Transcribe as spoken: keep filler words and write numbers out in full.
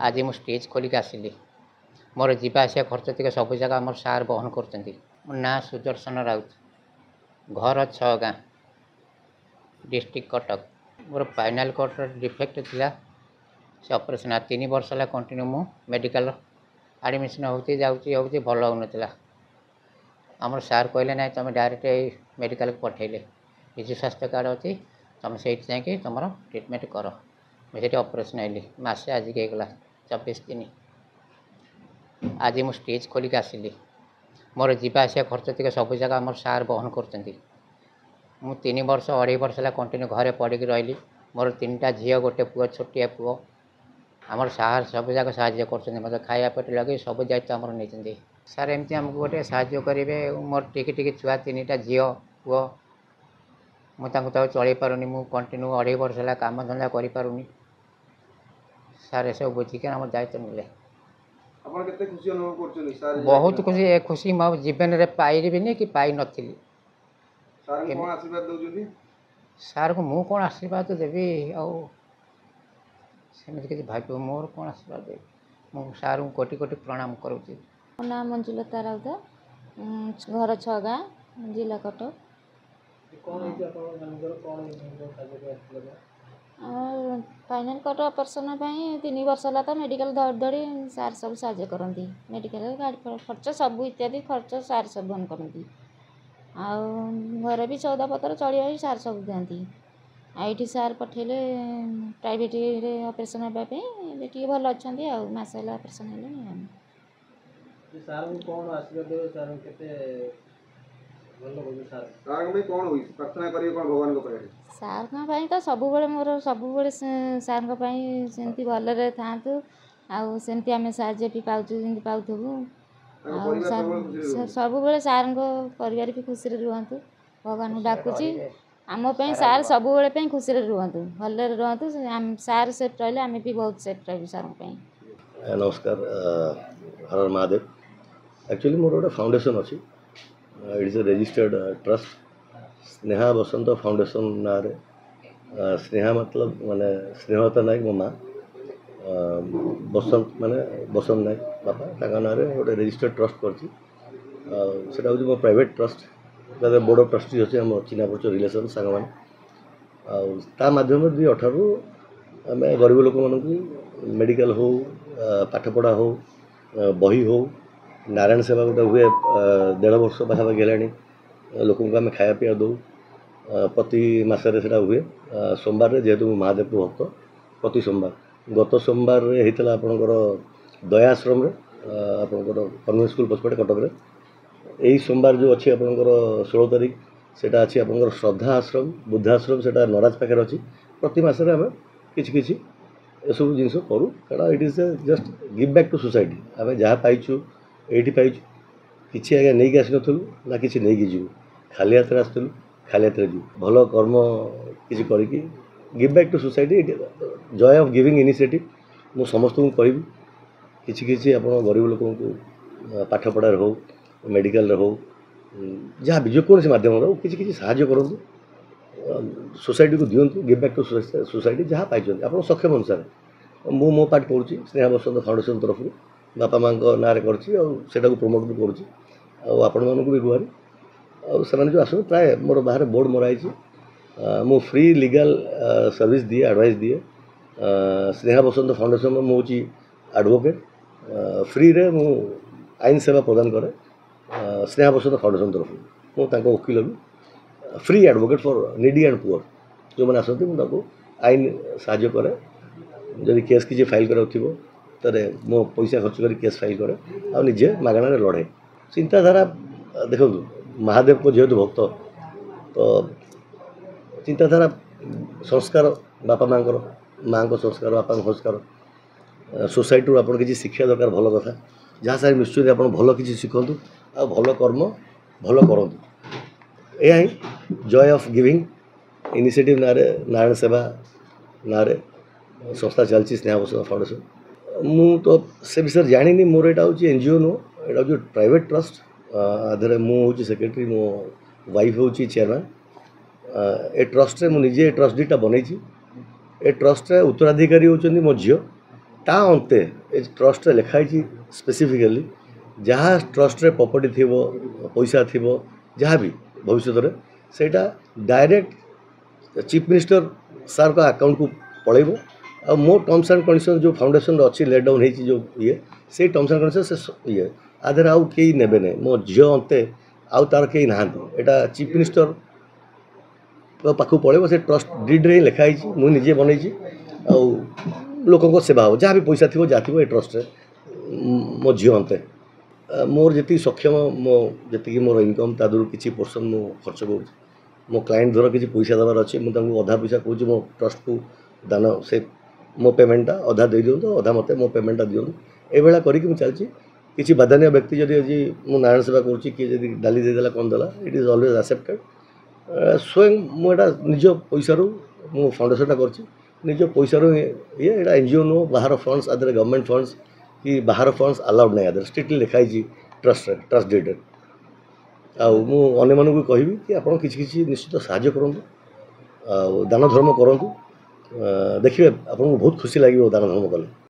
ଆଜି ମୁଁ ଷ୍ଟିଚ୍ ଖୋଲିକି ଆସିଲି। ମୋର ଯିବା ଆସିବା ଖର୍ଚ୍ଚ ଟିକେ ସବୁ ଜାଗା ଆମର ସାର୍ ବହନ କରୁଛନ୍ତି। ମୋ ନାଁ ସୁଦର୍ଶନ ରାଉତ, ଘର ଛଅ ଗାଁ, ଡିଷ୍ଟ୍ରିକ୍ଟ କଟକ। ମୋର ସ୍ପାଇନାଲ୍ କର୍ଡ଼ର ଡିଫେକ୍ଟ ଥିଲା। ସେ ଅପରେସନ୍ ତିନି ବର୍ଷ ହେଲା କଣ୍ଟିନ୍ୟୁ ମୁଁ ମେଡ଼ିକାଲ ଆଡ଼ମିସନ୍ ହେଉଛି, ଯାଉଛି, ହେଉଛି, ଭଲ ହେଉନଥିଲା। ଆମର ସାର୍ କହିଲେ, ନାଇଁ, ତୁମେ ଡାଇରେକ୍ଟ ଏଇ ମେଡ଼ିକାଲକୁ ପଠାଇଲେ, ବିଜୁ ସ୍ୱାସ୍ଥ୍ୟ କାର୍ଡ଼ ଅଛି, ତୁମେ ସେଇଠି ଯାଇକି ତୁମର ଟ୍ରିଟମେଣ୍ଟ କର। ମୁଁ ସେଇଠି ଅପରେସନ୍ ହେଲି। ମାସେ ଆଜିକି ହେଇଗଲା, ଚବିଶ ତିନି। ଆଜି ମୁଁ ଷ୍ଟିଚ୍ ଖୋଲିକି ଆସିଲି। ମୋର ଯିବା ଆସିବା ଖର୍ଚ୍ଚ ଟିକେ ସବୁ ଜାଗା ଆମର ସାର୍ ବହନ କରୁଛନ୍ତି। ମୁଁ ତିନି ବର୍ଷ, ଅଢ଼େଇ ବର୍ଷ ହେଲା କଣ୍ଟିନ୍ୟୁ ଘରେ ପଡ଼ିକି ରହିଲି। ମୋର ତିନିଟା ଝିଅ, ଗୋଟେ ପୁଅ, ଛୋଟିଆ ପୁଅ। ଆମର ସାର୍ ସବୁ ଯାକ ସାହାଯ୍ୟ କରୁଛନ୍ତି। ମୋତେ ଖାଇବା ପେଟ ଲଗେଇ ସବୁ ଦାୟିତ୍ୱ ଆମର ନେଇଛନ୍ତି ସାର୍। ଏମିତି ଆମକୁ ଗୋଟେ ସାହାଯ୍ୟ କରିବେ। ମୋର ଟିକି ଟିକି ଛୁଆ, ତିନିଟା ଝିଅ ପୁଅ, ମୁଁ ତାଙ୍କୁ ତାକୁ ଚଳେଇ ପାରୁନି। ମୁଁ କଣ୍ଟିନ୍ୟୁ ଅଢ଼େଇ ବର୍ଷ ହେଲା କାମ ଧନ୍ଦା କରିପାରୁନି। ସାର୍ ଏସବୁ ବୁଝିକି ଆମ ଦାୟିତ୍ୱ ନେଲେ। ଆପଣ କେତେ ଖୁସି ଅନୁଭବ କରୁଛନ୍ତି ସାର୍? ବହୁତ ଖୁସି। ଏ ଖୁସି ମୁଁ ଆଉ ଜୀବନରେ ପାଇବିନି କି ପାଇନଥିଲି। ସାର୍ଙ୍କୁ କ'ଣ ଆଶୀର୍ବାଦ ଦେଉଛନ୍ତି? ସାର୍କୁ ମୁଁ କ'ଣ ଆଶୀର୍ବାଦ ଦେବି? ଆଉ ସେମିତି କିଛି ଭାବିବ ମୋର କ'ଣ ଆଶୀର୍ବାଦ ଦେବି? ମୁଁ ସାର୍ଙ୍କୁ କୋଟି କୋଟି ପ୍ରଣାମ କରୁଛି। ମୋ ନାଁ ମଞ୍ଜୁଲତା ରାଉତ, ଘର ଛଅ ଗାଁ, ଜିଲ୍ଲା କଟକ। କ'ଣ ହେଇଛି ଆପଣଙ୍କ ସ୍ୱାମୀଙ୍କର? କ'ଣ ସାହାଯ୍ୟ ପାଇଁ ଆସିଥିଲେ? ସ୍ପାଇନାଲ୍ କର୍ଡ଼ ଅପରେସନ୍ ପାଇଁ ତିନି ବର୍ଷ ହେଲା ତ ମେଡ଼ିକାଲ ଧରି ଧରି। ସାର୍ ସବୁ ସାହାଯ୍ୟ କରନ୍ତି। ମେଡ଼ିକାଲ ଗାଡ଼ି ଖର୍ଚ୍ଚ ସବୁ ଇତ୍ୟାଦି ଖର୍ଚ୍ଚ ସାର୍ ସବୁ ବହନ କରନ୍ତି। ଆଉ ଘରେ ବି ସଉଦା ପତ୍ର ଚଳିବା ବି ସାର୍ ସବୁ ଦିଅନ୍ତି। ଆଉ ଏଇଠି ସାର୍ ପଠେଇଲେ ପ୍ରାଇଭେଟ୍ରେ ଅପରେସନ୍ ହେବା ପାଇଁ। ଏବେ ଟିକେ ଭଲ ଅଛନ୍ତି ଆଉ ମାସେ ହେଲା ଅପରେସନ୍ ହେଲେଣି ଆଉ। ସାର୍ଙ୍କୁ କ'ଣ ଆଶୀର୍ବାଦ ଦେବେ? ସାର୍ଙ୍କୁ କେତେ ଭଲ କହୁଛନ୍ତି ସାର୍? ସାର୍ଙ୍କ ପାଇଁ କ'ଣ ହୋଇଛି, ପ୍ରାର୍ଥନା କରିବେ କ'ଣ ଭଗବାନଙ୍କ ପାଖରେ? ସାର୍ଙ୍କ ପାଇଁ ତ ସବୁବେଳେ ମୋର ସବୁବେଳେ ସାର୍ଙ୍କ ପାଇଁ ସେମିତି ଭଲରେ ଥାଆନ୍ତୁ ଆଉ ସେମିତି ଆମେ ସାହାଯ୍ୟ ବି ପାଉଛୁ, ଯେମିତି ପାଉଥିବୁ। ତାଙ୍କ ଆଉ ପରିବାର ସାର୍ ସବୁବେଳେ ଖୁସିରେ ରୁହନ୍ତୁ। ସବୁବେଳେ ସାର୍ଙ୍କ ପରିବାର ବି ଖୁସିରେ ରୁହନ୍ତୁ। ଭଗବାନଙ୍କୁ ଖୁସିରେ ଡାକୁଛି। ରହିବେ। ଆମ ପାଇଁ ସାରା ସାର୍ ଜୀବନ। ସବୁବେଳେ ପାଇଁ ଖୁସିରେ ରୁହନ୍ତୁ, ଭଲରେ ରୁହନ୍ତୁ। ସାର୍ ସେଫ୍ ରହିଲେ ଆମେ ବି ବହୁତ ସେଫ୍ ରହିବୁ ସାର୍ଙ୍କ ପାଇଁ। ନମସ୍କାର, ହର ହର ମହାଦେବ। ଆକ୍ଚୁଆଲି ମୋର ଗୋଟେ ଫାଉଣ୍ଡେସନ୍ ଅଛି। It is a registered trust, Sneha Basanta foundation ନାଁରେ। ସ୍ନେହା ମତଲବ ମାନେ ସ୍ନେହଲତା ନାୟକ ମୋ ମା, ବସନ୍ତ ମାନେ ବସନ୍ତ ନାୟକ ବାପା, ତାଙ୍କ ନାଁରେ ଗୋଟେ ରେଜିଷ୍ଟର୍ଡ ଟ୍ରଷ୍ଟ କରିଛି। ଆଉ ସେଇଟା ହେଉଛି ମୋ ପ୍ରାଇଭେଟ୍ ଟ୍ରଷ୍ଟ। ତା ଦେହରେ ବୋର୍ଡ଼ ଅଫ୍ ଟ୍ରଷ୍ଟି ଅଛି, ଆମ ଚିହ୍ନା ପରିଚୟ, ରିଲେସନ୍, ସାଙ୍ଗମାନେ। ଆଉ ତା ମାଧ୍ୟମରେ ଦୁଇ ଅଠରରୁ ଆମେ ଗରିବ ଲୋକମାନଙ୍କୁ ମେଡ଼ିକାଲ ହଉ, ପାଠପଢ଼ା ହଉ, ବହି ହଉ, ନାରାୟଣ ସେବା ଗୋଟେ ହୁଏ, ଦେଢ଼ ବର୍ଷ ପାଖାପାଖି ହେଲାଣି, ଲୋକଙ୍କୁ ଆମେ ଖାଇବା ପିଇବା ଦେଉ। ପ୍ରତି ମାସରେ ସେଇଟା ହୁଏ ସୋମବାରରେ। ଯେହେତୁ ମୁଁ ମହାଦେବଙ୍କ ଭକ୍ତ, ପ୍ରତି ସୋମବାର। ଗତ ସୋମବାରରେ ହେଇଥିଲା ଆପଣଙ୍କର ଦୟା ଆଶ୍ରମରେ, ଆପଣଙ୍କର କନଭେଣ୍ଟ ସ୍କୁଲ ପଛପଟେ କଟକରେ। ଏଇ ସୋମବାର ଯେଉଁ ଅଛି ଆପଣଙ୍କର ଷୋହଳ ତାରିଖ, ସେଇଟା ଅଛି ଆପଣଙ୍କର ଶ୍ରଦ୍ଧା ଆଶ୍ରମ, ବୃଦ୍ଧାଶ୍ରମ, ସେଇଟା ନରାଜ ପାଖରେ ଅଛି। ପ୍ରତି ମାସରେ ଆମେ କିଛି କିଛି ଏସବୁ ଜିନିଷ କରୁ, କାରଣ it is a just give back to society. ଆମେ ଯାହା ପାଇଛୁ ଏଇଠି ପାଇଛୁ। କିଛି ଆଜ୍ଞା ନେଇକି ଆସିନଥିଲୁ ନା କିଛି ନେଇକି ଯିବୁ। ଖାଲି ହାତରେ ଆସିଥିଲୁ, ଖାଲି ହାତରେ ଯିବୁ। ଭଲ କର୍ମ କିଛି କରିକି give back to society, joy of giving initiative. ମୁଁ ସମସ୍ତଙ୍କୁ କହିବି, କିଛି କିଛି ଆପଣ ଗରିବ ଲୋକଙ୍କୁ ପାଠପଢ଼ାରେ ହଉ, ମେଡ଼ିକାଲରେ ହଉ, ଯାହା ବି ଯେକୌଣସି ମାଧ୍ୟମରେ ହଉ, କିଛି କିଛି ସାହାଯ୍ୟ କରନ୍ତୁ, ସୋସାଇଟିକୁ ଦିଅନ୍ତୁ। ଗିଭ୍ ବ୍ୟାକ୍ ଟୁ ସୋସାଇଟି ଯାହା ପାଇଛନ୍ତି ଆପଣ ସକ୍ଷମ ଅନୁସାରେ। ମୁଁ ମୋ ପାର୍ଟ କରୁଛି ସ୍ନେହା ବସନ୍ତ ଫାଉଣ୍ଡେସନ୍ ତରଫରୁ, ବାପା ମାଆଙ୍କ ନାଁରେ କରିଛି ଆଉ ସେଇଟାକୁ ପ୍ରମୋଟ୍ ବି କରୁଛି ଆଉ ଆପଣମାନଙ୍କୁ ବି ଗୁହାରି। ଆଉ ସେମାନେ ଯେଉଁ ଆସନ୍ତି ପ୍ରାୟ, ମୋର ବାହାରେ ବୋର୍ଡ଼ ମରା ହେଇଛି, ମୁଁ ଫ୍ରି ଲିଗାଲ୍ ସର୍ଭିସ୍ ଦିଏ, ଆଡ଼ଭାଇସ୍ ଦିଏ। ସ୍ନେହା ବସନ୍ତ ଫାଉଣ୍ଡେସନ୍ର ମୁଁ ହେଉଛି ଆଡ଼ଭୋକେଟ୍। ଫ୍ରିରେ ମୁଁ ଆଇନ ସେବା ପ୍ରଦାନ କରେ ସ୍ନେହା ବସନ୍ତ ଫାଉଣ୍ଡେସନ୍ ତରଫରୁ। ମୁଁ ତାଙ୍କ ଓକିଲ ବି, free advocate for needy and poor. ଯେଉଁମାନେ ଆସନ୍ତି, ମୁଁ ତାଙ୍କୁ ଆଇନ ସାହାଯ୍ୟ କରେ। ଯଦି କେସ୍ କିଛି ଫାଇଲ୍ କରିବାକୁ ଥିବ, ତାହେଲେ ମୋ ପଇସା ଖର୍ଚ୍ଚ କରି କେସ୍ ଫାଇଲ୍ କରେ ଆଉ ନିଜେ ମାଗଣାରେ ଲଢ଼େ। ଚିନ୍ତାଧାରା ଦେଖନ୍ତୁ, ମହାଦେବଙ୍କ ଯେହେତୁ ଭକ୍ତ, ତ ଚିନ୍ତାଧାରା, ସଂସ୍କାର, ବାପା ମାଆଙ୍କର, ମାଆଙ୍କ ସଂସ୍କାର, ବାପାଙ୍କ ସଂସ୍କାର, ସୋସାଇଟିରୁ ଆପଣ କିଛି ଶିଖିବା ଦରକାର। ଭଲ କଥା, ଯାହା ସାଙ୍ଗରେ ମିଶୁଛନ୍ତି ଆପଣ ଭଲ କିଛି ଶିଖନ୍ତୁ ଆଉ ଭଲ କର୍ମ ଭଲ କରନ୍ତୁ। ଏହା ହିଁ ଜୟ ଅଫ୍ ଗିଭିଂ ଇନିସିଏଟିଭ୍ ନାଁରେ, ନାରାୟଣ ସେବା ନାଁରେ ସଂସ୍ଥା ଚାଲିଛି, ସ୍ନେହା ବସନ୍ତ ଫାଉଣ୍ଡେସନ୍। ମୁଁ ତ ସେ ବିଷୟରେ ଜାଣିନି। ମୋର ଏଇଟା ହେଉଛି ଏନ୍ ଜି ଓ ନୁହଁ, ଏଇଟା ହେଉଛି ପ୍ରାଇଭେଟ୍ ଟ୍ରଷ୍ଟ। ଆ ଦେହରେ ମୁଁ ହେଉଛି ସେକ୍ରେଟାରୀ, ମୋ ୱାଇଫ୍ ହେଉଛି ଚେୟାରମ୍ୟାନ୍। ଏ ଟ୍ରଷ୍ଟରେ ମୁଁ ନିଜେ ଏ ଟ୍ରଷ୍ଟ ଡିଡ୍ଟା ବନେଇଛି। ଏ ଟ୍ରଷ୍ଟରେ ଉତ୍ତରାଧିକାରୀ ହେଉଛନ୍ତି ମୋ ଝିଅ। ତା ଅନ୍ତେ ଏ ଟ୍ରଷ୍ଟରେ ଲେଖା ହେଇଛି ସ୍ପେସିଫିକାଲି ଯାହା ଟ୍ରଷ୍ଟରେ ପ୍ରପର୍ଟି ଥିବ ପଇସା ଥିବ ଯାହା ବି ଭବିଷ୍ୟତରେ ସେଇଟା ଡାଇରେକ୍ଟ ଚିଫ୍ ମିନିଷ୍ଟର ସାର୍ଙ୍କ ଆକାଉଣ୍ଟକୁ ପଳେଇବ ଆଉ ମୋ ଟର୍ମସ୍ ଆଣ୍ଡ କଣ୍ଡିସନ୍ ଯେଉଁ ଫାଉଣ୍ଡେସନ୍ରେ ଅଛି ଲେଟ୍ ଡାଉନ୍ ହେଇଛି ଯେଉଁ ଇଏ ସେଇ ଟର୍ମସ୍ ଆଣ୍ଡ କଣ୍ଡିସନ୍ ସେ ସ- ଇଏ ଆ ଦେହରେ ଆଉ କେହି ନେବେ ନାହିଁ ମୋ ଝିଅ ଅନ୍ତେ ଆଉ ତାର କେହି ନାହାନ୍ତି ଏଇଟା ଚିଫ୍ ମିନିଷ୍ଟର ପାଖକୁ ପଳେଇବ ସେ ଟ୍ରଷ୍ଟ ଡିଡ୍ରେ ହିଁ ଲେଖା ହେଇଛି ମୁଁ ନିଜେ ବନେଇଛି ଆଉ ଲୋକଙ୍କ ସେବା ହେବ ଯାହା ବି ପଇସା ଥିବ ଯାହା ଥିବ ଏ ଟ୍ରଷ୍ଟରେ ମୋ ଝିଅ ଅନ୍ତେ ଆ, ମୋର ଯେତିକି ସକ୍ଷମ ମୋ ଯେତିକି ମୋର ଇନକମ୍ ତା ଦେହରୁ କିଛି ପୋର୍ସନ୍ ମୁଁ ଖର୍ଚ୍ଚ କରୁଛି ମୋ କ୍ଲାଏଣ୍ଟ ଧର କିଛି ପଇସା ଦେବାର ଅଛି ମୁଁ ତାଙ୍କୁ ଅଧା ପଇସା କହୁଛି ମୋ ଟ୍ରଷ୍ଟକୁ ଦାନ ସେ ମୋ ପେମେଣ୍ଟଟା ଅଧା ଦେଇଦିଅନ୍ତୁ ଅଧା ମୋତେ ମୋ ପେମେଣ୍ଟଟା ଦିଅନ୍ତୁ ଏଇଭଳିଆ କରିକି ମୁଁ ଚାଲିଛି କିଛି ବଦାନ୍ୟ ବ୍ୟକ୍ତି ଯଦି ଆଜି ମୁଁ ନାରାୟଣ ସେବା କରୁଛି କିଏ ଯଦି ଡାଲି ଦେଇଦେଲା କ'ଣ ଦେଲା it is always accepted ସ୍ୱୟଂ ମୁଁ ଏଇଟା ନିଜ ପଇସାରୁ ମୁଁ ଫାଉଣ୍ଡେସନଟା କରିଛି ନିଜ ପଇସାରୁ ଇଏ ଏଇଟା ଏନ୍ ଜି ଓ ନୁହଁ ବାହାର ଫଣ୍ଡସ୍ ଆ ଦେହରେ ଗଭର୍ଣ୍ଣମେଣ୍ଟ ଫଣ୍ଡସ୍ କି ବାହାର ଫଣ୍ଡସ୍ ଆଲାଉଡ଼ ନାହିଁ ଆ ଦେହରେ ଷ୍ଟ୍ରିକ୍ଟଲି ଲେଖା ହେଇଛି ଟ୍ରଷ୍ଟରେ ଟ୍ରଷ୍ଟ ଡିଡ୍ରେ ଆଉ ମୁଁ ଅନ୍ୟମାନଙ୍କୁ କହିବି କି ଆପଣ କିଛି କିଛି ନିଶ୍ଚିତ ସାହାଯ୍ୟ କରନ୍ତୁ ଆଉ ଦାନ ଧର୍ମ କରନ୍ତୁ ଅ, ଦେଖିବେ ଆପଣଙ୍କୁ ବହୁତ ଖୁସି ଲାଗିବ ଦାନ ଧର୍ମ କଲେ